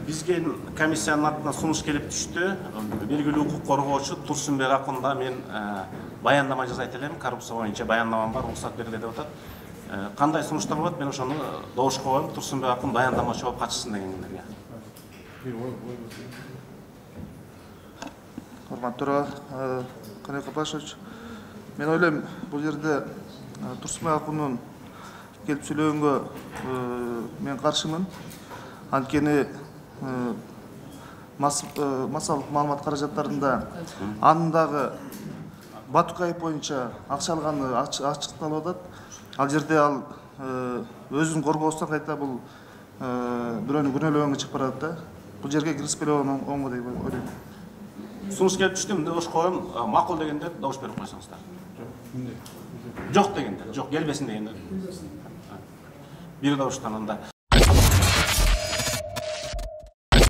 Бизге комиссиянын атынан сунуш келип түштү. Белгилүү укук коргоочу Турсунбек Акунда мен баяндама жасайт элем. Коррупция боюнча баяндамам бар, уруксат бергиле деп атат. Кандай сунуштар болот? Мен ошону добушка коем. Турсунбек Акун баяндамачы болуп катышсын дегендерге. Урматтуу төрага, Каник Апашевич, мен ойлойм, бул жерде Турсунбек Акундун келип сүйлөгөнгө мен каршымын. Анткени массалык маалымат каражаттарында анын дагы Батукаев боюнча акча алганы ачыкталып атат. Ал жерде ал өзүн коргоосунан кайта бул бирөөнү күнөөлөгөнгө чыгып барат да. Бул жерге киришпеле оңго деп ойлойм. Сунуш келип түштү, мындай добуш коем. Макул дегендер добуш берип койсоңуздар. Жок дегендер, жок келбесин дегендер. Бир добуштан анда.